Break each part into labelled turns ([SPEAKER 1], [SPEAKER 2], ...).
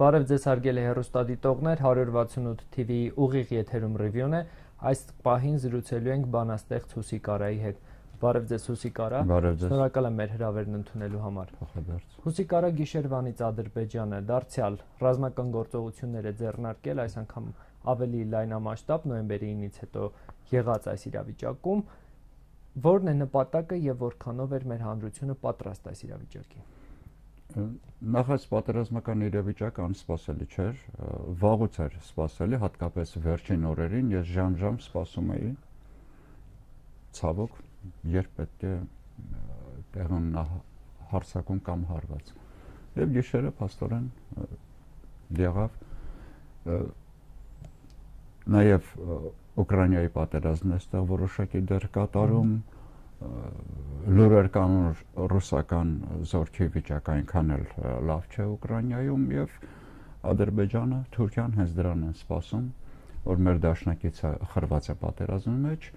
[SPEAKER 1] Բարև ձեզ հարգելի հեռուստադիտողներ, 168 TV-ի ուղիղ եթերում ռիվյուն է, այս պահին զրուցելու ենք բանաստեղծ Հուսիկ Արայի հետ։ Բարև ձեզ Հուսիկ Արա, շնորհակալ եմ մեր հրավերն ընդունելու համար։ Հուսիկ Արա գիշերվանից Ադրբեջանը դարձյալ ռազմական գործողություններ է ձեռնարկել, այս անգամ ավելի լայնամասշտաբ նոյեմբերի 9-ից հետո եղած այս իրավիճակում, որն է նպատակը եւ որքանով էր մեր հանրությունը պատրաստ այս իրավիճակին։
[SPEAKER 2] Նախ պատերազմական իրավիճակը անսպասելի չէր, վաղուց էր սպասելի, հատկապես վերջին օրերին ես ժամ սպասում էի, ցավոք, երբ պետք է տեղն հարձակում կամ հարված։ Եվ գիշերը փաստորեն եղավ, նաև Ուկրաինայի պատերազմն այստեղ որոշակի դեր կատարում, լուրեր կան ռուսական զորքի վիճակը այնքան էլ լավ չէ Ուկրաինայում եւ Ադրբեջանը, Թուրքիան հենց դրան են սպասում, որ մեր դաշնակիցը խրված է պատերազմի մեջ,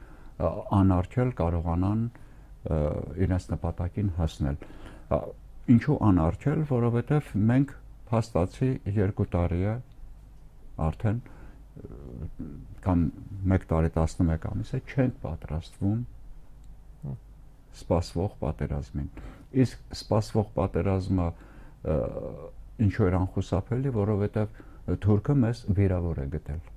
[SPEAKER 2] անարգել կարողանան իրենց նպատակին հասնել։ Ինչու անարգել, որովհետեւ մենք փաստացի 2 տարի է արդեն կամ 1 տարի 11 ամիս է չենք պատրաստվում սպասվող պատերազմին։ Իսկ սպասվող պատերազմը ինչու էր անխուսափելի, որովհետև Թուրքը մեզ վիրավոր է գտել։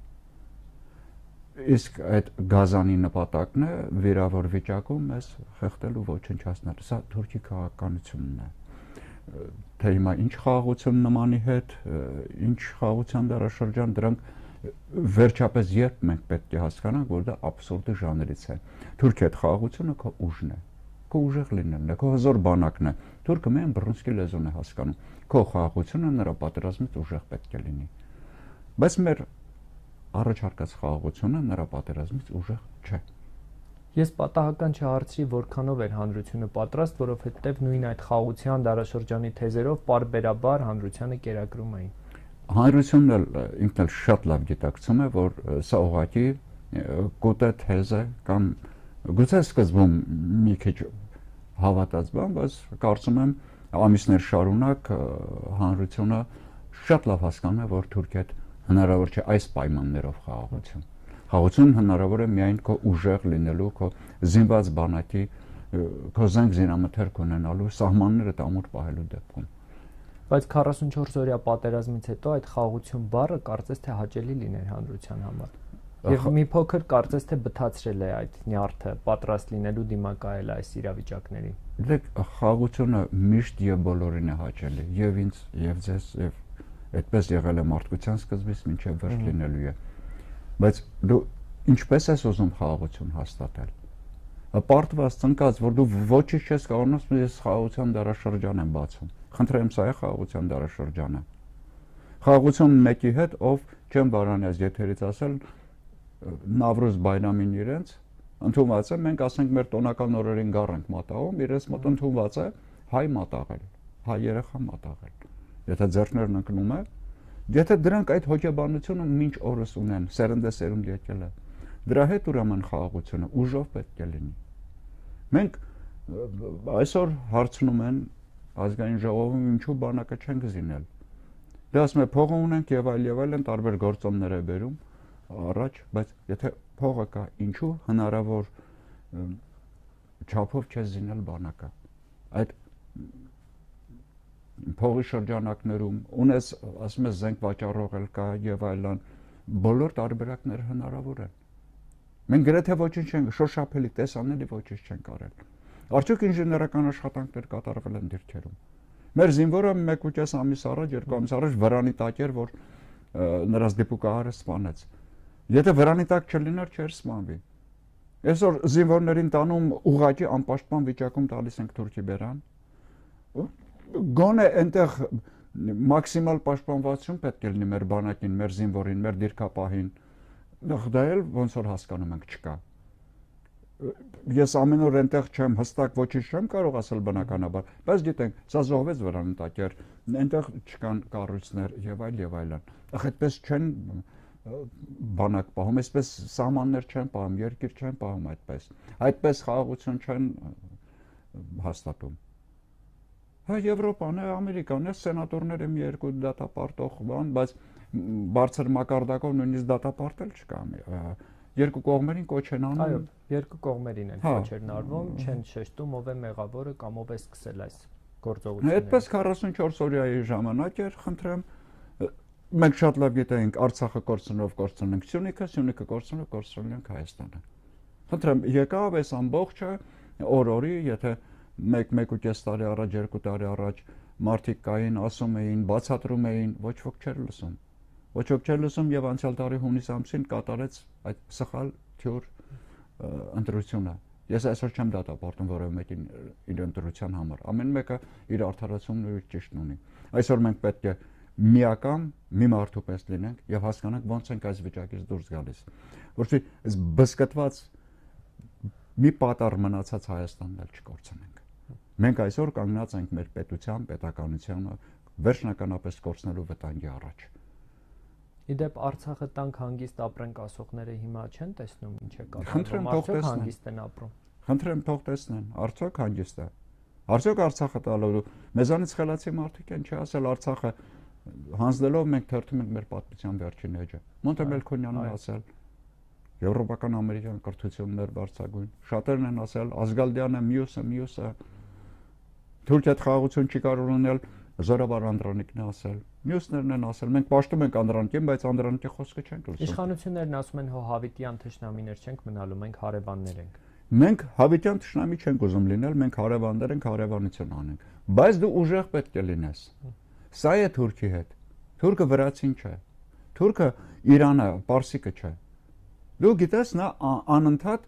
[SPEAKER 2] Իսկ այդ գազանի նպատակն է վիրավոր վիճակում մեզ խեղդել ու ոչնչացնել։ Սա Թուրքի քաղաքականությունն է։ Թե հիմա ինչ խաղաղություն նմանի հետ, ինչ խաղաղության դարաշրջան, դրանք վերջապես երբ մենք պետք է հասկանանք, որ դա աբսուրդի ժանրից է։ Թուրքի այդ խաղաղությունը քո ուժն է, քո ուժեղ լինելն է, քո հզոր բանակն է։ Թուրքը միայն բռունցքի լեզուն է հասկանում։ Քո խաղաղությունը նրա պատերազմից ուժեղ պետք է լինի։ Բայց մեր առաջարկած խաղաղությունը նրա պատերազմից ուժեղ չէ։
[SPEAKER 1] Ես պատահական չհարցրի, որքանով էր հանրությունը պատրաստ, որովհետև նույն այդ խաղաղության դարաշրջանի թեզերով պարբերաբար հանրությանը կերակրում էին։
[SPEAKER 2] Հանրությունն էլ ինքն էլ շատ լավ գիտակցում է, որ սա ուղղակի կուտե թեզ է կամ գուցե սկզբում մի քիչ հավատաց բան, բայց կարծում եմ ամիսներ շարունակ հանրությունը շատ լավ հասկանում է, որ Թուրքիա հնարավոր չէ այս պայմաններով խաղաղություն։ Խաղաղություն հնարավոր է միայն քո ուժեղ լինելու, քո զինված բանակի, քո զենք զինամթերք ունենալու, սահմանները ամուր պահելու դեպքում։
[SPEAKER 1] Բայց 44-օրյա պատերազմից հետո այդ խաղաղություն բառը կարծես թե հաճելի լիներ հանրության համար։ Եվ մի փոքր կարծես թե բթացրել է այդ նյարդը, պատրաստ լինելու դիմակայել այս իրավիճակներին։
[SPEAKER 2] Դեք խաղաղությունը միշտ եւ բոլորին է հաճելի, եւ ինձ, եւ ձեզ, եւ այդպես եղել է մարդկության սկզբից մինչեւ վերջ լինելու է։ Բայց դու ինչպես ես ուզում խաղաղություն հաստատել։ Պարտված ծնկած, որ դու ոչինչ չես կարողանում, ես խաղաղության դարաշրջան եմ բացում։ Խնդրեմ, սա է խաղաղության դարաշրջանը։ Խաղաղություն մեկի հետ, ով չեմ բարանյաց եթերից ասել, Նավրուզ Բայրամին իրենց ընդունված է, մենք ասենք մեր տոնական օրերին գառ ենք մատաղում, իրենց մոտ ընդունված է հայ մատաղել, հայ երեխա մատաղել։ Եթե ձեռքներն ընկնում է, եթե դրանք այդ հոգեբանությունը մինչ օրս ունեն, սերնդեսերունդ եկել է, դրա հետ ուրեմն խաղաղությունը ուժով պետք է լինի։ Մենք այսօր հարցնում են ազգային ժողովում ինչու բանակը չենք զինել։ Դա ասում է փողը ունենք եւ այլն տարբեր գործոններ է բերում առաջ, բայց եթե փողը կա, ինչու հնարավոր չափով չես զինել բանակը։ Այդ փողի շրջանակներում ունես, ասում ես զենք վաճառողել կա եւ այլն, բոլոր տարբերակները հնարավոր են։ Մենք գրեթե ոչինչ չենք, շոշափելի տեսանելի ոչինչ չենք արել։ Արդյոք ինժեներական աշխատանքներ կատարվել են դիրքերում։ Մեր զինվորը 1.5 ամիս առաջ, 2 ամիս առաջ վրանի տակ էր, որ նրանց դիպուկահարը սպանեց։ Եթե վրանի տակ չլիներ, չէր սպանվի։ Այսօր զինվորներին տանում ուղղակի անպաշտպան վիճակում տալիս ենք Թուրքի բերան։ Գոնե այնտեղ մաքսիմալ պաշտպանվածություն պետք է լինի մեր բանակին, մեր զինվորին, մեր դիրքապահին։ Դա էլ ոնց որ հասկանում ենք չկա։ Ես ամեն օր այնտեղ չեմ, հստակ ոչինչ չեմ կարող ասել բնականաբար, բայց գիտենք, սա զոհվեց վրանի տակ էր, այնտեղ չկան կառույցներ եւ այլն։ Այդպես չեն բանակ պահում, այսպես սահմաններ չեն պահում, երկիր չեն պահում այդպես։ Այդպես խաղաղություն չեն հաստատում։ Հա Եվրոպան է, Ամերիկան է, սենատորները մի երկու դատապարտող բան, բայց բարձր մակարդակով նույնիսկ դատապարտել չկա։ Երկու կողմերին կոչ են անում։
[SPEAKER 1] Այո, երկու կողմերին են կոչերն արվում, չեն շեշտում ով է մեղավորը կամ ով է սկսել այս գործողությունները։
[SPEAKER 2] Այդպես 44 օրյայի ժամանակ էր, խնդրեմ, մենք շատ լավ գիտենք Արցախը կորցնենք Սյունիքը կորցնենք Հայաստանը։ Խնդրեմ, եկավ այս ամբողջը օր-օրի, եթե 1.5 տարի առաջ, 2 տարի առաջ մարդիկ կային, ասում էին, բացատրում էին, ոչ ոք չէր լսում։ Ոչ ոք չէր լսում եւ անցյալ տարի հունիս ամսին կատարեց այդ սխալ թյուր ընտրությունը։ Ես այսօր չեմ դատապարտում որևէ մեկին իր ընտրության համար։ Ամեն մեկը իր արդարացումն ու իր ճիշտն ունի։ Այսօր մենք պետք է միական մի մարդու պես լինենք եւ հասկանանք ոնց ենք այս վիճակից դուրս գալիս։ Որովհետեւ այս բսկտված մի պատառ մնացած Հայաստանն էլ չկորցնենք։ Մենք այսօր կանգնած ենք մեր պետության, պետականությանը վերջնականապես կորցնելու վտանգի առաջ։
[SPEAKER 1] Իդեպ Արցախը տանք հանգիստ ապրենք ասողները հիմա չեն տեսնում ինչ է կատարվում։
[SPEAKER 2] Խնդրեմ թող տեսնեն։
[SPEAKER 1] Հանգիստ են ապրում։
[SPEAKER 2] Խնդրեմ թող տեսնեն, արդյոք հանգիստ է։ Արդյոք Արցախը տալու մեզանից խելացի մարդիկ են, չի ասել Արցախը հանձնելով մենք թերթում ենք մեր պատմության վերջին էջը։ Մոնտե Մելքոնյանն ասել եվրոպական ամերիկյան կրթություններ բարձրագույն։ Շատերն են ասել Ազգալդյանը, մյուսը Թուրքիա խաղաղություն չի կարող ունել, Զորավար Անդրանիկն է ասել։ Մյուսներն են ասել, մենք պաշտում ենք Անդրանիկին, բայց Անդրանիկի խոսքը չենք լսում։
[SPEAKER 1] Իշխանություններն ասում են հո հավիտյան թշնամիներ չենք մնալու, մենք հարևաններ ենք։
[SPEAKER 2] Մենք հավիտյան թշնամի չենք ուզում լինել, մենք հարևաններ ենք, հարևանություն անենք։ Բայց դու ուժեղ պետք է լինես։ Սա է Թուրքի հետ։ Թուրքը վրացին չէ։ Թուրքը Իրանը, պարսիկը չէ։ Դու գիտես, նա անընդհատ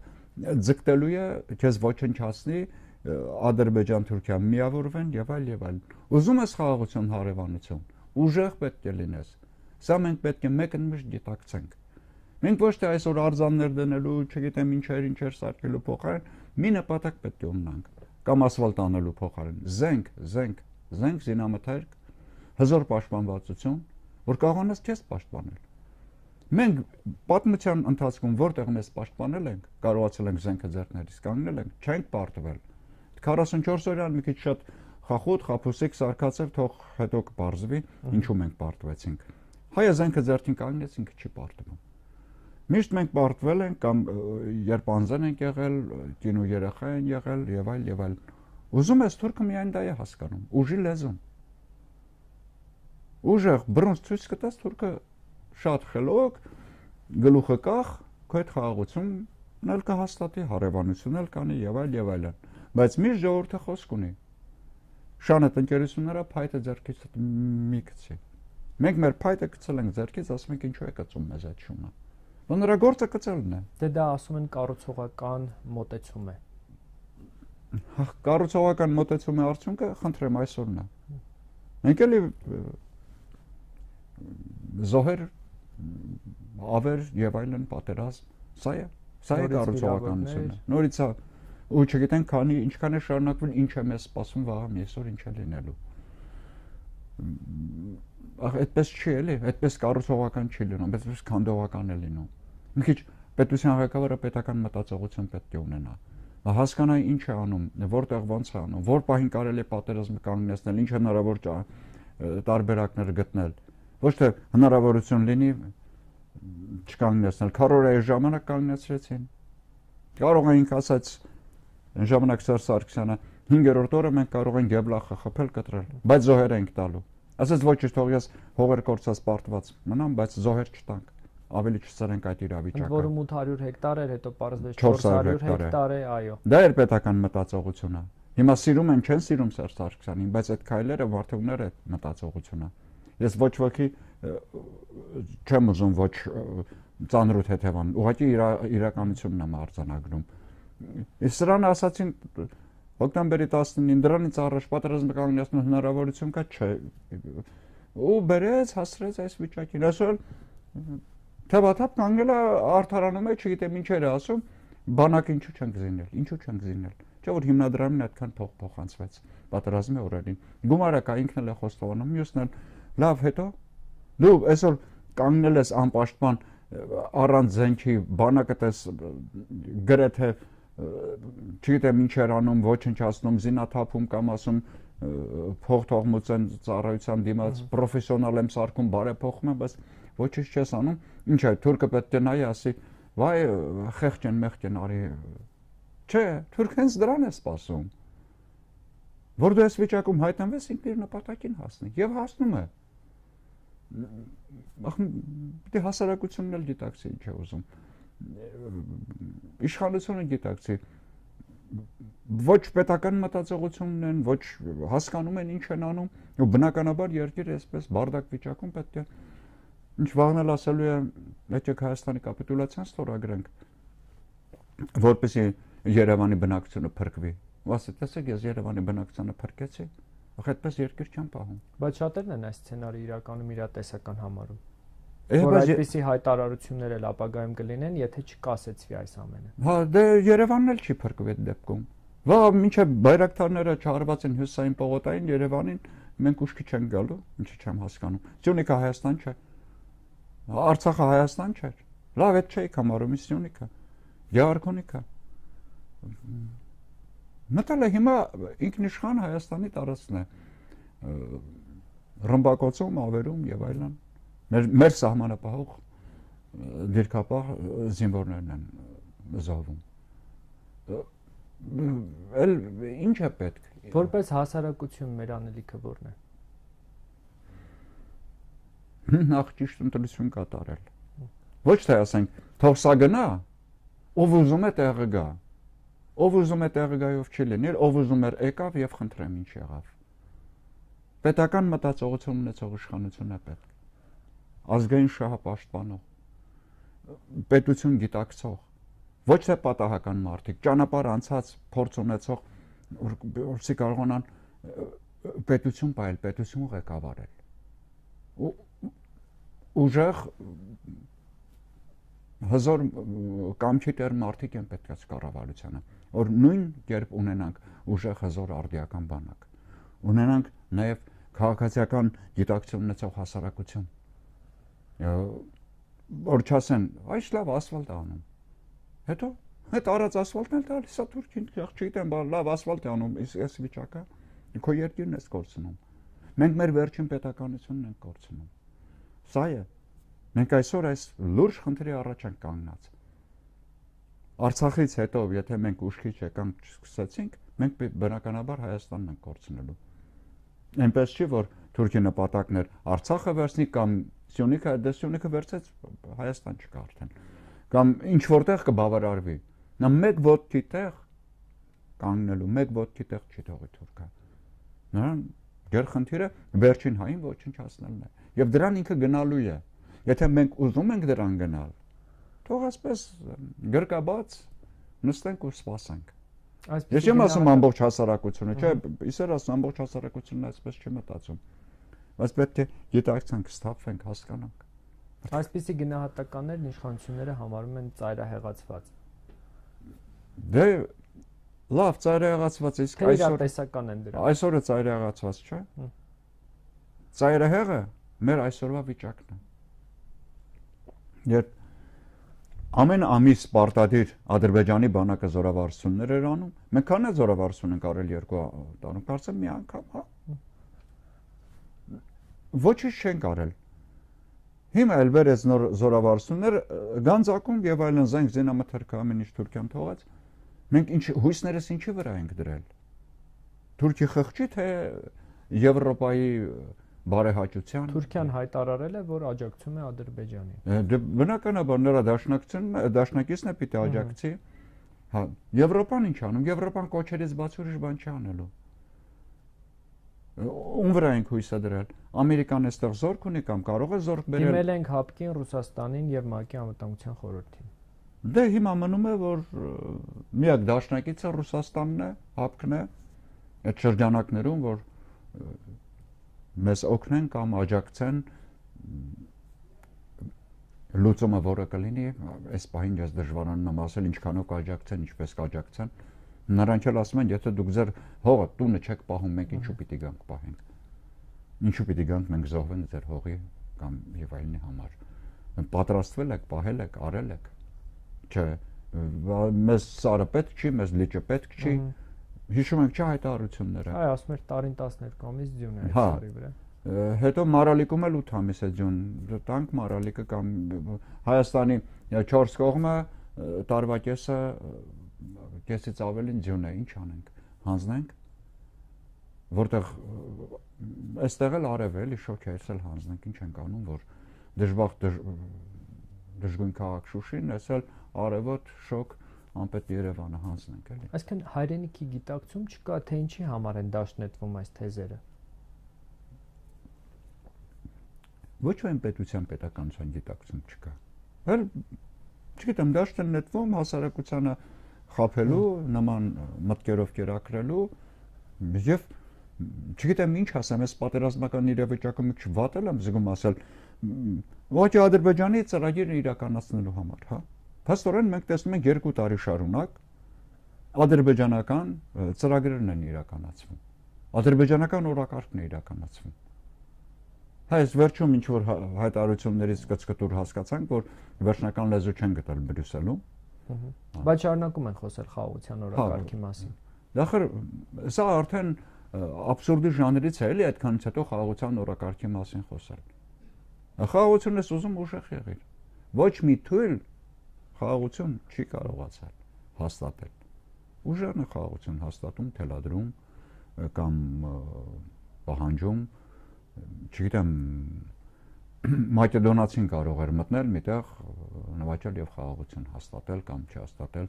[SPEAKER 2] ձգտելու է քեզ ոչնչացնի, Ադրբեջան, Թուրքիա միավորվեն եւ այլ։ Ուզում ես խաղաղություն, հարևանություն, ուժեղ պետք է լինես։ Սա մենք պետք է մեկընդմիշտ գիտակցենք։ Մենք ոչ թե այսօր արձաններ դնելու, չգիտեմ ինչեր սարքելու փոխարեն մի նպատակ պետք է ունենանք, կամ ասֆալտ անելու փոխարեն։ Զենք, զինամթերք, հզոր պաշտպանվածություն, որ կարողանաս քեզ պաշտպանել։ Մենք պատմության ընթացքում որտեղ մեզ պաշտպանել ենք, կարողացել ենք զենքը ձեռքներիս կանգնել ենք, չենք պարտվել։ 44 օրյան մի քիչ շատ խախոտ, խափուսիկ սարկացել, թող հետո կբարձվի, ինչու մենք պարտվեցինք։ Հայը զենքը ձեռքին կանգնեց, ինքը չի պարտվում։ Միշտ մենք պարտվել ենք կամ երբ անձն ենք եղել, կինու երեխա են եղել եւ այլ։ Ուզում ես թուրքը միայն դա է հասկանում, ուժի լեզուն։ Ուժեղ բռունց ցույց կտաս թուրքը շատ խելոք, գլուխը կախ, քո հետ խաղաղությունն էլ կհաստատի, հարևանությունն էլ կանի եւ այլ։ Բայց միշտ ժողովուրդը խոսք ունի։ Շանետ ընկերությունները փայտը ձեռքից մի գցի։ Մենք մեր փայտը գցել ենք ձեռքից, ասում ենք ինչու է գծում մեզ այդ շունը։ Ու նրա գործը գծելն է։
[SPEAKER 1] Դե դա ասում են կառուցողական մոտեցում է։
[SPEAKER 2] Կառուցողական մոտեցումի արդյունքը խնդրեմ այսօրն է։ Մենք էլի զոհեր, ավեր եւ այլն պատերազմ, սա է կառուցողականությունը։ Նորից է ու չգիտենք քանի ինչքան է շարունակվել, ինչ է մեզ սպասում վաղը այսօր ինչ է լինելու։ Այդպես չի էլի, այդպես կառուցողական չի լինում, այդպես քանդողական է լինում։ Մի քիչ պետության ղեկավարը պետական մտածողություն պետք է ունենա։ Հասկանա ինչ է անում, որտեղ ոնց է անում, որ պահին կարելի է պատերազմը կանգնեցնել, ինչ հնարավոր տարբերակներ գտնել։ Ոչ թե հնարավորություն լինի չկանգնեցնել, քարորայի ժամանակ կանգնեցրեցին։ Կարող էինք ասած այն ժամանակ Սերժ Սարգսյանը 5-րդ օրը մենք կարող ենք Գեբլախը խփել կտրել, բայց զոհեր ենք տալու։ Ասած ոչ թող ես հողեր կորցած պարտված մնամ, բայց զոհեր չտանք, ավելի չծրենք այդ իրավիճակը։
[SPEAKER 1] Ընդ որում 800 հեկտար էր, հետո պարզվեց 400 հեկտար է, այո։
[SPEAKER 2] Դա էր պետական մտածողությունը։ Հիմա սիրում են, չեն սիրում Սերժ Սարգսյանին, բայց այդ քայլերը վարդողներ է մտածողությունը։ Ես ոչ ոքի չեմ ուզում ոչ ծանրուտ հետևան, ուղղակի իրականությունն եմ արձանագրում։ Ես սրան ասացին հոկտեմբերի 19-ին դրանից առաջ պատերազմը կանգնեցնելու հնարավորություն կա, չէ։ Ու բերեց, հասցրեց այս վիճակին։ Այսօր թեւաթափ կանգնել է արդարանում է, չգիտեմ ինչեր է ասում, բանակը ինչու չենք զինել։ Չէ՞ որ հիմնադրամին այդքան փող փոխանցվեց պատերազմի օրերին։ Գումարը կա, ինքն էլ է խոստովանում, մյուսն էլ լավ հետո դու այսօր կանգնել ես անպաշտպան առանց զենքի բանակը տես գրեթե չգիտեմ ինչ էր անում, ոչնչացնում, զինաթափում կամ ասում փոխթողմության ծառայության դիմաց պրոֆեսիոնալ եմ սարքում, բարեփոխում եմ, բայց ոչինչ չես անում։ Ինչ է, թուրքը պետք է նայի, ասի, վայ, խեղճ են, մեղք են, արի։ Չէ, թուրքը հենց դրան է սպասում։ Որ դու ես վիճակում հայտնվես, ինքն իր նպատակին հասնի, եւ հասնում է։ Դե հասարակությունն էլ գիտակցի ինչ է ուզում։ Իշխանությունը գիտակցի։ Ոչ պետական մտածողություն ունեն, ոչ հասկանում են ինչ են անում, ու բնականաբար երկիրը այսպես բարդակ վիճակում պետք է ինչ վաղնել ասելու է, եկեք Հայաստանի կապիտուլյացիան ստորագրենք, որպեսզի Երևանի բնակչությունը փրկվի։ Ասի, տեսեք, ես Երևանի բնակչությունը փրկեցի, այդպես երկիր չեմ պահում։
[SPEAKER 1] Բայց շատերն են այս սցենարը իրականում իրատեսական համարում։ Որ այդպիսի հայտարարություններ էլ ապագայում կլինեն, եթե չկասեցվի այս ամենը։
[SPEAKER 2] Հա, դե Երևանն էլ չի փրկվի այդ դեպքում։ Վա, մինչև բայրակտարները չարված են հյուսային պողոտային Երևանին, մենք ուշքի չենք գալու, ինչի չեմ հասկանում։ Սյունիքը Հայաստան չէ։ Արցախը Հայաստան չէ։ Լավ, այդ չէի համարում Սյունիքը։ Գեղարքունիքը։ Մտել է հիմա ինքնիշխան Հայաստանի տարածքն է։ Ռմբակոծում, ավերում եւ այլն։ Մեր սահմանապահող դիրքապահ զինվորներն են զոհվում։ Էլ ինչ է պետք։
[SPEAKER 1] Որպես հասարակություն մեր անելիքը ո՞րն է։
[SPEAKER 2] Նախ ճիշտ ընտրություն կատարել։ Ոչ թե ասենք, թող սա գնա, ով ուզում է տեղը գա։ Ով ուզում է տեղը գայով չի լինել, ով ուզում էր եկավ եւ խնդրեմ ինչ եղավ։ Պետական մտածողություն ունեցող իշխանություն է պետք։ Ազգային շահը պաշտպանող, պետություն գիտակցող, ոչ թե պատահական մարդիկ, ճանապարհ անցած փորձ ունեցող, որպեսզի կարողանան պետություն պահել, պետություն ղեկավարել։ Ուժեղ հզոր կամքի տեր մարդիկ են պետք է կառավարությանը, որ նույն կերպ ունենանք ուժեղ հզոր արդիական բանակ, ունենանք նաև քաղաքացիական գիտակցություն ունեցող հասարակություն, որ չասեն, այս լավ ասֆալտ է անում, հետո հետ արած ասֆալտն էլ տալիս է Թուրքին, չգիտեմ, լավ ասֆալտ է անում, այս վիճակը քո երկիրն ես կորցնում, մենք մեր վերջին պետականությունն ենք կորցնում, սա է։ Մենք այսօր այս լուրջ խնդրի առաջ ենք կանգնած։ Արցախից հետո, եթե մենք ուշքի չեկանք չսկսեցինք, մենք բնականաբար Հայաստանն ենք կորցնելու։ Այնպես չի, որ Թուրքի նպատակն էր Արցախը վերցնի կամ Սյունիքը, դե Սյունիքը վերցեց Հայաստան չկա արդեն։ Կամ ինչ որտեղ կբավարարվի։ Նա մեկ ոտքի տեղ կանգնելու, մեկ ոտքի տեղ չի թողի Թուրքը։ Նրան գերխնդիրը վերջին հային ոչնչացնելն է։ Եվ դրան ինքը գնալու է։ Եթե մենք ուզում ենք դրան գնալ, թող ասպես գրկաբաց նստենք ու սպասենք։ Ես չեմ ասում ամբողջ հասարակությունը, չէ, իսեր ասում ամբողջ հասարակությունն այսպես չի մտածում։ Բայց պետք է գիտակցենք, սթափվենք, հասկանանք։
[SPEAKER 1] Այսպիսի գնահատականներն իշխանությունները համարում են ծայրահեղացված։
[SPEAKER 2] Դե լավ, ծայրահեղացված է, իսկ
[SPEAKER 1] այսօր տեսական են դրանք։
[SPEAKER 2] Այսօրը ծայրահեղացված չէ։ Ծայրահեղը մեր այսօրվա վիճակն է։ Երբ ամեն ամիս պարտադիր Ադրբեջանի բանակը զորավարություններ էր անում, մենք քանի զորավարություն ենք արել 2 տարում, կարծեմ մի անգամ, հա։ Ոչինչ չենք արել։ Հիմա էլ վերեց նոր զորավարություններ, Գանձակում եւ այլն զենք զինամթերքը ամեն ինչ Թուրքիան թողած։ Մենք ինչ հույսներս ինչի վրա ենք դրել։ Թուրքի խղճի թե Եվրոպայի բարեհաճության։
[SPEAKER 1] Թուրքիան հայտարարել է, որ աջակցում է Ադրբեջանին։
[SPEAKER 2] Դե բնականաբար նրա դաշնակիցն է պիտի աջակցի։ Հա, Եվրոպան ինչ անում։ Եվրոպան կոչերից բաց ուրիշ բան չի անելու։ Ում վրա ենք հույսը դրել։ Ամերիկան այստեղ զորք ունի կամ կարող է զորք բերել։
[SPEAKER 1] Դիմել ենք ՀԱՊԿ-ին, Ռուսաստանին եւ ՄԱԿ-ի անվտանգության խորհրդին։
[SPEAKER 2] Դե հիմա մնում է, որ միակ դաշնակիցը Ռուսաստանն է, ՀԱՊԿ-ն է, այդ շրջանակներում, որ մեզ օգնեն կամ աջակցեն լուծումը որը կլինի, այս պահին ես դժվարանում եմ ասել ինչքանով կաջակցեն, ինչպես կաջակցեն։ Նրանք էլ ասում են, եթե դուք ձեր հողը տունը չեք պահում, մենք ինչու պիտի գանք պահենք։ Ինչու պիտի գանք մենք զոհվենք ձեր հողի կամ եւ այլնի համար։ Պատրաստվել եք, պահել եք, արել եք։ Չէ, մեզ սարը պետք չի, մեզ լիճը պետք չի։ Հիշում եք չէ հայտարարությունները։
[SPEAKER 1] Այ ասում էր տարին 12 ամիս ձյուն է այդ սարի վրա։
[SPEAKER 2] Հետո Մարալիկում էլ 8 ամիս է ձյուն, տանք Մարալիկը կամ Հայաստանի 4 կողմը տարվա կեսից ավելին ձյուն է, ինչ անենք, հանձնենք, որտեղ այստեղ էլ արև էլի շոկ է, էլ հանձնենք, ինչ ենք անում, որ դժգույն քաղաք Շուշին, այս էլ արևոտ շոկ անպետ Երևանը հանձնենք էլի։
[SPEAKER 1] Այսինքն հայրենիքի գիտակցում չկա, թե ինչի համար են դաշնետվում այս թեզերը։
[SPEAKER 2] Ոչ այն պետության պետականության գիտակցում չկա։ Հəl չգիտեմ, դաշտ են նետվում հասարակությանը խափելու, նման մտքերով կերակրելու եւ չգիտեմ ինչ ասեմ, այս պատերազմական իրավիճակում մի քիչ վատել եմ զգում ասել, ոչ Ադրբեջանի ծրագիրը իրականացնելու համար, հա։ Փաստորեն մենք տեսնում ենք 2 տարի շարունակ ադրբեջանական ծրագրերն են իրականացվում։ Ադրբեջանական օրակարգն է իրականացվում։ Այս վերջում ինչ որ հայտարարություններից կծկտուր հասկացանք, որ վերջնական լեզու չեն գտել Բրյուսելում։
[SPEAKER 1] Բայց շարունակում են խոսել խաղաղության օրակարգի մասին։
[SPEAKER 2] Դախր սա արդեն աբսուրդի ժանրից է, էլի այդքանից հետո խաղաղության օրակարգի մասին խոսել։ Խաղաղությունն է ուզում ուժեղ եղիր։ Ոչ մի թույլ խաղաղություն չի կարողացել հաստատել։ Ուժերն է խաղաղություն հաստատում, թելադրում կամ պահանջում, չգիտեմ, Մակեդոնացին կարող էր մտնել միտեղ նվաճել եւ խաղաղություն հաստատել կամ չհաստատել։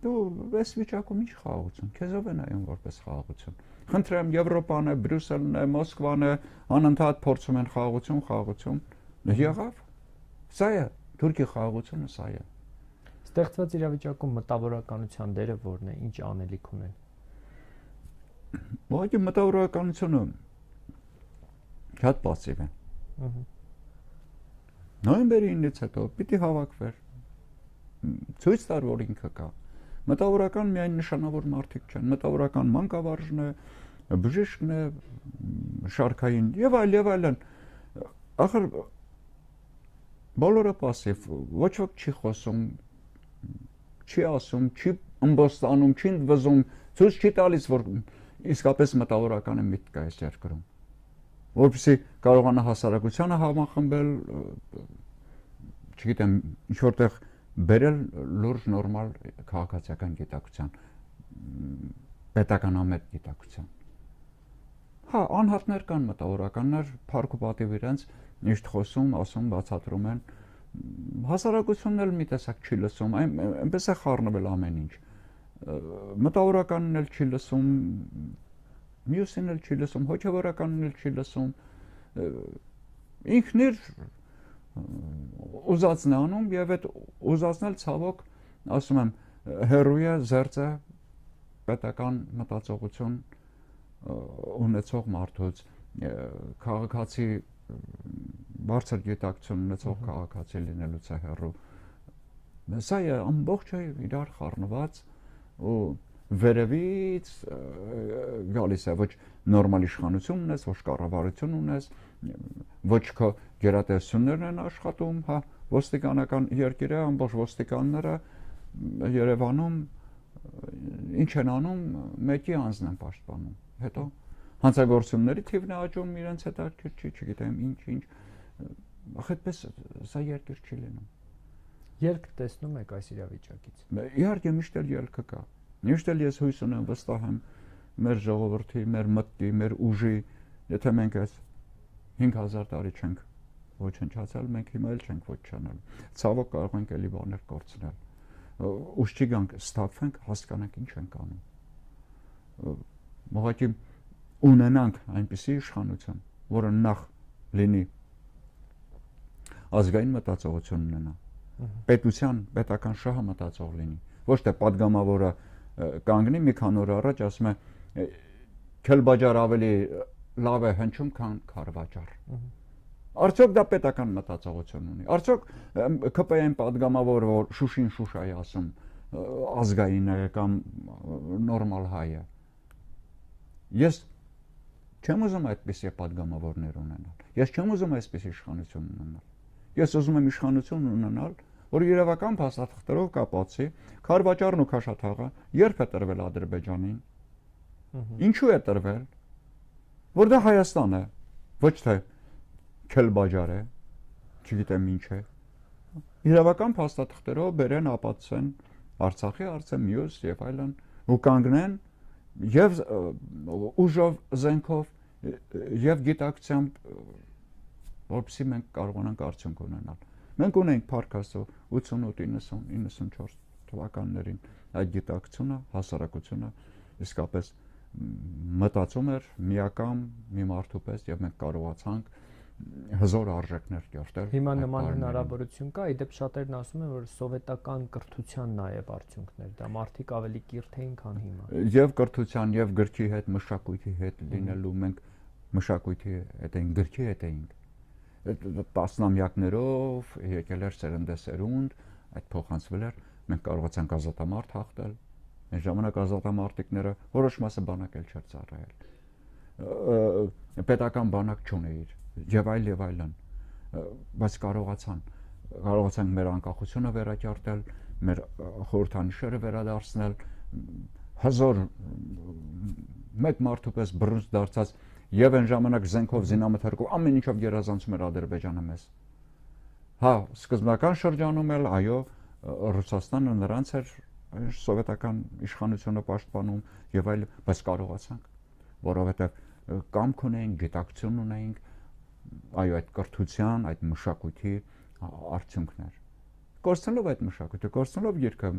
[SPEAKER 2] Դու այս վիճակում ինչ խաղաղություն, քեզով է նայում որպես խաղաղություն։ Խնդրեմ, Եվրոպան է, Բրյուսելն է, Մոսկվան է, անընդհատ փորձում են խաղաղություն։ Եղավ։ Սա է, Թուրքի խաղաղությունը սա է։
[SPEAKER 1] Ստեղծված իրավիճակում մտավորականության դերը որն է, ինչ անելիք ունեն։
[SPEAKER 2] Ուղղակի մտավորականությունը շատ պասիվ է։ Նոյեմբերի 9-ից հետո պիտի հավաքվեր։ Ցույց տար, որ ինքը կա։ Մտավորական միայն նշանավոր մարդիկ չեն, մտավորական մանկավարժն է, բժիշկն է, շարքային եւ այլն։ Ախր բոլորը պասիվ, ոչ ոք չի խոսում, չի ասում, չի ըմբոստանում, չի վզում, ցույց չի տալիս, որ իսկապես մտավորական է միտք կա այս երկրում։ Որպեսզի կարողանա հասարակությանը համախմբել, չգիտեմ, ինչ որտեղ բերել լուրջ նորմալ քաղաքացիական գիտակցության, պետականամետ գիտակցության։ Հա, անհատներ կան մտավորականներ, փառք ու պատիվ իրենց միշտ խոսում, ասում, բացատրում են։ Հասարակությունն էլ մի տեսակ չի լսում, այնպես է խառնվել ամեն ինչ։ Մտավորականն էլ չի լսում, մյուսին էլ չի լսում, հոգևորականն էլ չի լսում, ինքն իր ուզածն է անում եւ այդ ուզածն էլ ցավոք, ասում եմ, հերույ է, զերծ է պետական մտածողություն ունեցող մարդուց, քաղաքացի բարձր գիտակցություն ունեցող քաղաքացի լինելուց է հեռու։ Սա է ամբողջը իրար խառնված ու վերևից գալիս է, ոչ նորմալ իշխանություն ունես, ոչ կառավարություն ունես, ոչ քո գերատեսչություններն են աշխատում, հա, ոստիկանական երկիրը, ամբողջ ոստիկանները Երևանում ինչ են անում, մեկի անձն են պաշտպանում։ Հետո հանցագործությունների թիվն է աճում, իրենց հետաքրքիր չի, չգիտեմ, ինչ, այդպես սա երկիր չի լինում։
[SPEAKER 1] Ելք տեսնում եք այս իրավիճակից։
[SPEAKER 2] Իհարկե միշտ էլ ելքը կա։ Միշտ էլ ես հույս ունեմ, վստահ եմ մեր ժողովրդի, մեր մտքի, մեր ուժի, եթե մենք այս 5000 տարի չենք ոչնչացել, մենք հիմա էլ չենք ոչնչանալ։ Ցավոք կարող ենք էլի բաներ կորցնել։ Ուշքի գանք, ստափվենք, հասկանանք ինչ ենք անում։ Ուղղակի ունենանք այնպիսի իշխանություն, որը նախ լինի ազգային մտածողություն ունենա, պետության, պետական շահը մտածող լինի, ոչ թե падգամավորը կանգնի մի քանի օր առաջ ասում է քելբաջար ավելի լավ է հնչում, քան քարվաճար։ Արդյոք դա պետական մտածողություն ունի։ Արդյոք ԿՊ-ին падգամավորը, որ Շուշին Շուշայի ասում, ազգային է կամ նորմալ հայ է։ Ես չեմ ուզում այդպիսի падգամավորներ ունենալ։ Ես չեմ ուզում այսպիսի իշխանություն ունենալ։ Ես ուզում եմ իշխանություն ունենալ, որ երևական փաստաթղթերով կապացի Քարվաճարն ու Քաշաթաղը երբ է տրվել Ադրբեջանին։ Ինչու է տրվել։ Որ դա Հայաստան է, ոչ թե Քելբաջար է, չգիտեմ ինչ է։ Երևական փաստաթղթերով բերեն ապացուցեն Արցախի հարցը, մյուս եւ այլն ու կանգնեն եւ ուժով զենքով եւ գիտակցությամբ, որպեսզի մենք կարողանանք արդյունք ունենալ։ Մենք ունենք Փարքասո 88-90-94 թվականներին այդ գիտակցությունը, հասարակությունը իսկապես մտածում էր միակամ մի մարդու պես եւ մենք կարողացանք հզոր արժեքներ կերտել։
[SPEAKER 1] Հիմա նման հնարավորություն կա, իդեպ շատերն ասում են, որ սովետական կրթության նաև արդյունքներ, դա մարդիկ ավելի կիրթ էին, քան հիմա։
[SPEAKER 2] Եվ կրթության, եւ գրքի հետ, մշակույթի հետ լինելու մենք մշակույթի հետ էինք, գրքի հետ էինք։ Տասնամյակներով եկել էր սերնդեսերունդ, այդ փոխանցվել էր, մենք կարողացանք ազատամարտ հաղթել։ Այն ժամանակ ազատամարտիկները որոշ մասը բանակել չէր ծառայել։ Պետական բանակ չուներ եւ այլն, բայց կարողացանք մեր անկախությունը վերակերտել, մեր խորհրդանիշերը վերադարձնել, հզոր մեկ մարդու պես բռունց դարձած եւ այն ժամանակ զենքով զինամթերքով ամեն ինչով գերազանցում էր Ադրբեջանը մեզ։ Հա, սկզբնական շրջանում էլ այո, Ռուսաստանը նրանց էր սովետական իշխանությունը պաշտպանում եւ այլ, բայց կարողացանք, որովհետեւ կամք ունեինք, գիտակցություն ունեինք, այո, այդ կրթության, այդ մշակույթի արդյունքներ։ Կորցնելով այդ մշակույթը, կորցնելով երգը,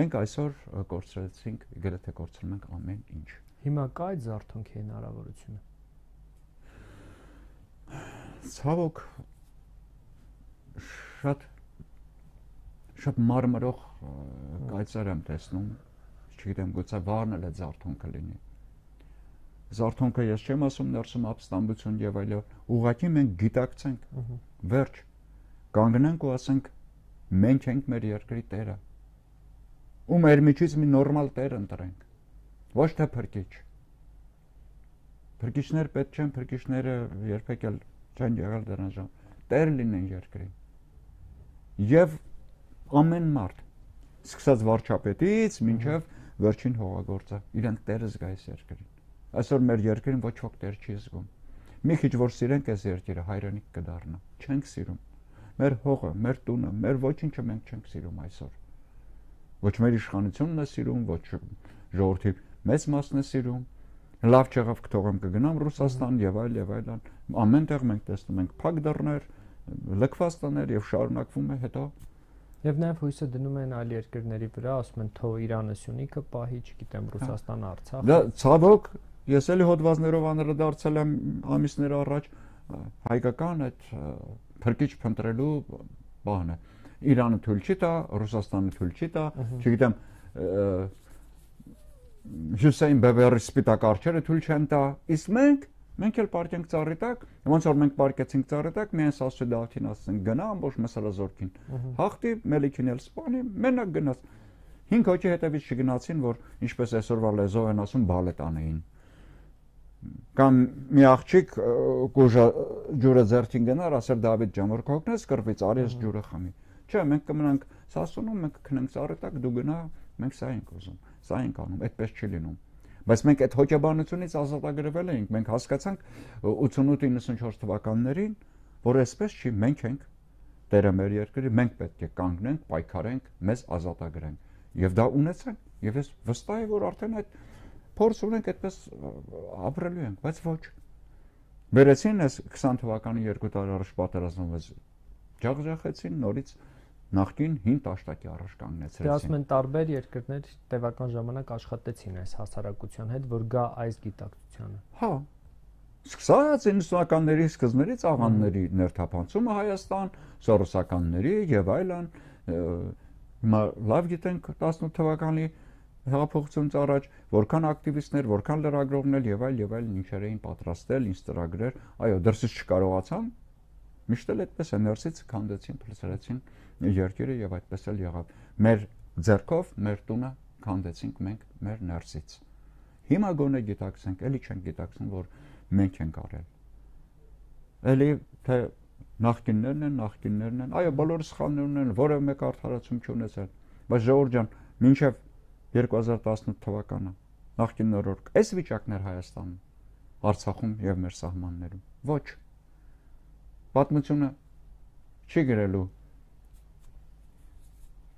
[SPEAKER 2] մենք այսօր կորցրեցինք, գրեթե կորցնում ենք ամեն ինչ։
[SPEAKER 1] Հիմա կա այդ զարթոնքի հնարավորությունը։
[SPEAKER 2] Ցավոք շատ մարմրող կայծեր եմ տեսնում, չգիտեմ, գուցե վառն էլ է զարթոնքը լինի։ Զարթոնքը ես չեմ ասում ներսում ապստամբություն եւ այլն, ուղղակի մենք գիտակցենք, վերջ, կանգնենք ու ասենք մենք ենք մեր երկրի տերը։ Ու մեր միջից մի նորմալ տեր ընտրենք, ոչ թե փրկիչ։ Փրկիչներ պետք չեն, փրկիչները երբեք էլ չեն եղել դրանց ժամ, տեր լինեն երկրին։ Եվ ամեն մարդ, սկսած վարչապետից մինչև վերջին հողագործը, իրենք տերը զգա այս երկրին։ Այսօր մեր երկրին ոչ ոք տեր չի զգում։ Մի քիչ որ սիրենք այս երկիրը, հայրենիք կդառնա։ Չենք սիրում։ Մեր հողը, մեր տունը, մեր ոչինչը մենք չենք սիրում այսօր։ Ոչ մեր իշխանությունն է սիրում, ոչ ժողովրդի մեծ մասն է սիրում։ Լավ չեղավ կթողեմ կգնամ Ռուսաստան եւ այլն։ Ամենտեղ մենք տեսնում ենք փակ դռներ, լքված տներ եւ շարունակվում է հետո։
[SPEAKER 1] Եվ նաև հույսը դնում են այլ երկրների վրա, ասում են թող Իրանը Սյունիքը պահի, չգիտեմ, Ռուսաստանը Արցախը։
[SPEAKER 2] Դա ցավոք, ես էլի հոդվածներով անդրադարձել եմ ամիսներ առաջ, հայկական այդ փրկիչ փնտրելու բանը։ Իրանը թույլ չի տա, Ռուսաստանը թույլ չի տա, չգիտեմ, Հյուսեյն Բևերի սպիտակ արջերը թույլ չեն տա, իսկ մենք էլ պարկենք ծառի տակ, ոնց որ մենք պարկեցինք ծառի տակ, միայն Սասու Դավթին ասենք գնա ամբողջ մսալազորքին։ Հաղթի, Մելիքին էլ սպանի, մենակ գնաց։ 5 հոգի հետևից չգնացին, որ ինչպես այսօրվա լեզվով են ասում, բալետ անեին։ Կամ մի աղջիկ ջուրը ձեռքին գնար, ասեր Դավիթ ջան, որ կօգնես կռվից, արի ես ջուրը խմի։ Չէ, մենք կմնանք Սասունում, մենք կքնենք ծառի տակ, դու գնա, մենք սա ենք ուզում, սա ենք անում, այդպես չի լինում։ Բայց մենք այդ հոգեբանությունից ազատագրվել էինք, մենք հասկացանք 88-94 թվականներին, որ այսպես չի, մենք ենք տերը մեր երկրի, մենք պետք է կանգնենք, պայքարենք, մեզ ազատագրենք։ Եվ դա ունեցանք, եւ ես վստահ եմ, որ արդեն այդ փորձ ունենք, այդպես ապրելու ենք, բայց ոչ։ Վերեցին այս 20 թվականի 2 տարի առաջ պատերազմից ջախջախեցին, նորից նախկին 5 տաշտակի առաջ կանգնեցրեցին։
[SPEAKER 1] Դե ասում են տարբեր երկրներ տևական ժամանակ աշխատեցին այս հասարակության հետ, որ գա այս գիտակցությանը։
[SPEAKER 2] Հա։ Սկսած 90-ականների սկզբներից աղանդների ներթափանցումը Հայաստան, սորոսականների եւ այլն, հիմա լավ գիտենք 18 թվականի հեղափոխությունից առաջ որքան ակտիվիստներ, որքան լրագրողներ եւ այլն ինչեր էին պատրաստել, ինչ ծրագրեր, այո, դրսից չկարողացան, միշտ էլ այդպես է ներսից քանդեցին, փլցրեցին երկիրը եւ այդպես էլ եղավ։ Մեր ձեռքով մեր տունը քանդեցինք մենք մեր ներսից։ Հիմա գոնե գիտակցենք, էլի չենք գիտակցում, որ մենք ենք արել։ Էլի թե նախկիններն են, այո, բոլորը սխալներ են, որևէ մեկ արդարացում չունեցել, բայց ժողովուրդ ջան, մինչև 2018 թվականը նախկին օրոք այս վիճակն էր Հայաստանում, Արցախում եւ մեր սահմաններում։ Ոչ։ Պատմությունը չի գրելու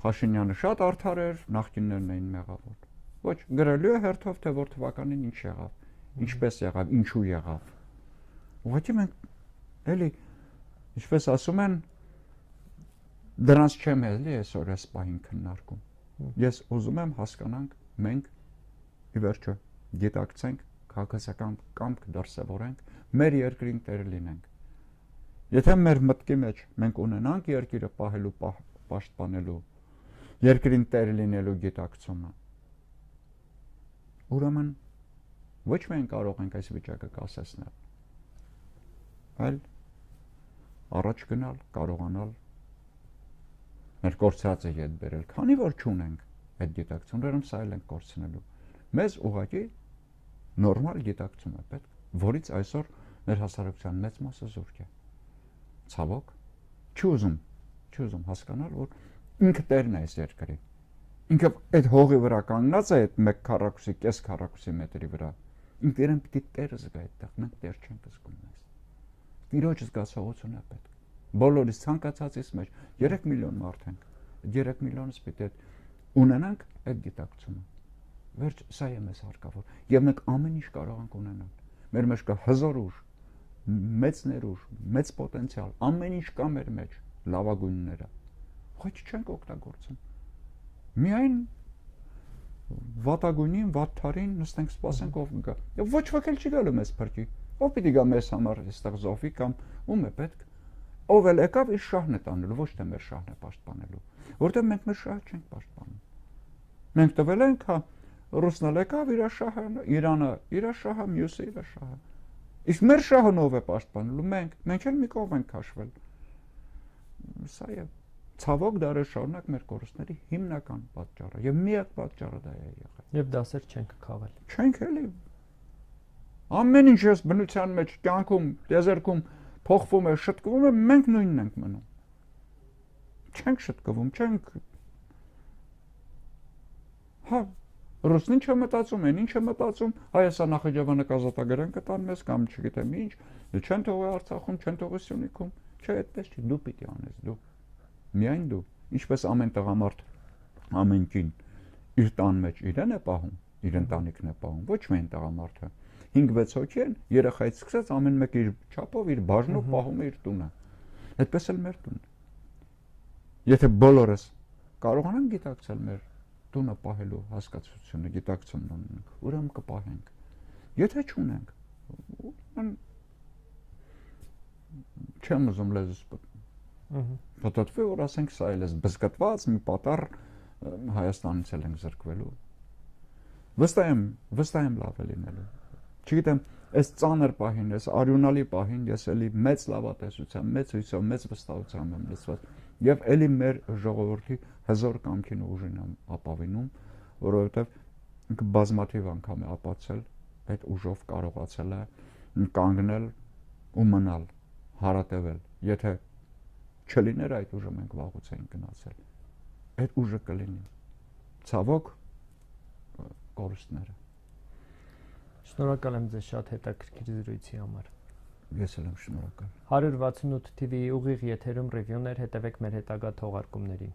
[SPEAKER 2] Փաշինյանը շատ արդար էր, նախկիններն էին մեղավոր։ Ոչ, գրելու է հերթով, թե որ թվականին ինչ եղավ, ինչպես եղավ, ինչու եղավ։ Ուղղակի մենք էլի, ինչպես ասում են, դրանց չեմ էլի այսօր այս պահին քննարկում։ Ես ուզում եմ հասկանանք, մենք ի վերջո գիտակցենք, քաղաքացիական կամք դրսևորենք, մեր երկրին տեր լինենք։ Եթե մեր մտքի մեջ մենք ունենանք երկիրը պահելու, պաշտպանելու, երկրին տեր լինելու գիտակցումը, ուրեմն ոչ մենք կարող ենք այս վիճակը կասեցնել, այլ առաջ գնալ, կարողանալ մեր կորցրածը ետ բերել, քանի որ չունենք այդ գիտակցությունը, ուրեմն սա էլ ենք կորցնելու։ Մեզ ուղղակի նորմալ գիտակցում է պետք, որից այսօր մեր հասարակության մեծ մասը զուրկ է։ Ցավոք, չուզում հասկանալ, որ ինքը տերն է այս երկրի։ Ինքը այդ հողի վրա կանգնած է այդ 1 քառակուսի, կես քառակուսի մետրի վրա։ Ինքը իրեն պիտի տերը զգա այդտեղ, մենք տեր չենք զգում մեզ։ Տիրոջ զգացողություն է պետք։ Բոլորիս ցանկացածից մեջ 3 միլիոն մարդ ենք։ 3 միլիոնից պիտի ունենանք այդ գիտակցումը։ Վերջ, սա է մեզ հարկավոր։ Եվ մենք ամեն ինչ կարող ենք ունենալ։ Մեր մեջ կա հզոր ուժ, մեծ ներուժ, մեծ պոտենցիալ, ամեն ինչ կա մեր մեջ, լավագույնները։ Ոչ չենք օգտագործում։ Միայն վատագույնին, վատթարին նստենք սպասենք ով գա։ Եվ ոչ ոք էլ չի գալու մեզ փրկի։ Ով պիտի գա մեզ համար այստեղ զոհվի կամ ում է պետք։ Ով էլ եկավ իր շահն է տանելու, ոչ թե մեր շահն է պաշտպանելու։ Որտեղ մենք մեր շահը չենք պաշտպանում։ Մենք տվել ենք, հա, ռուսն էլ եկավ իր շահը, Իրանը իր շահը, մյուսը իր շահը։ Իսկ մեր շահն ով է պաշտպանելու։ Մենք էլ մի կողմ ենք քաշվել։ Սա է ցավոք դարեր շարունակ մեր կորուստների հիմնական պատճառը եւ միակ պատճառը դա է եղել։
[SPEAKER 1] Եվ դասեր չենք քաղել։
[SPEAKER 2] Չենք էլի։ Ամեն ինչ ես բնության մեջ, կյանքում, դեզերքում փոխվում է, շտկվում է, մենք նույնն ենք մնում։ Չենք շտկվում, չենք։ Հա, ռուսն ինչ է մտածում, այն ինչ է մտածում, Հայաստան Նախիջևանը կազատագրեն կտան մեզ կամ չգիտեմ ինչ, չեն թողի Արցախում, չեն թողի Սյունիքում, չէ, այդպես չի, դու պիտի անես, դու։ Միայն դու, ինչպես ամեն տղամարդ, ամեն կին իր տան մեջ իրեն է պահում, իր ընտանիքն է պահում, ոչ միայն տղամարդը։ 5-6 հոգի են, երեխայից սկսած ամեն մեկը իր չափով, իր բաժնով պահում է իր տունը։ Այդպես էլ մեր տունը։ Եթե բոլորս կարողանանք գիտակցել մեր տունը պահելու հասկացությունը, գիտակցումն ունենք, ուրեմն կպահենք։ Եթե չունենք, չեմ ուզում լեզուս պատտվի, որ ասենք սա էլ է բզկտված մի պատառ Հայաստանից էլ ենք զրկվելու։ Վստահ եմ լավ է լինելու։ Չգիտեմ, այս ծանր պահին, այս արյունալի պահին ես էլի մեծ լավատեսությամբ, մեծ հույսով, մեծ վստահությամբ եմ լցված եւ էլի մեր ժողովրդի հզոր կամքին ու ուժին եմ ապավինում, որովհետեւ ինքը բազմաթիվ անգամ է ապացել, այդ ուժով կարողացել է կանգնել ու մնալ, հարատևել։ Եթե չլիներ այդ ուժը, մենք վաղուց էինք գնացել։ Այդ ուժը կլինի։ Ցավոք կորուստները։
[SPEAKER 1] Շնորհակալ եմ ձեզ շատ հետաքրքիր զրույցի համար։
[SPEAKER 2] Ես էլ եմ շնորհակալ։
[SPEAKER 1] 168 TV-ի ուղիղ եթերում ռևյուներ, հետևեք մեր հետագա թողարկումներին։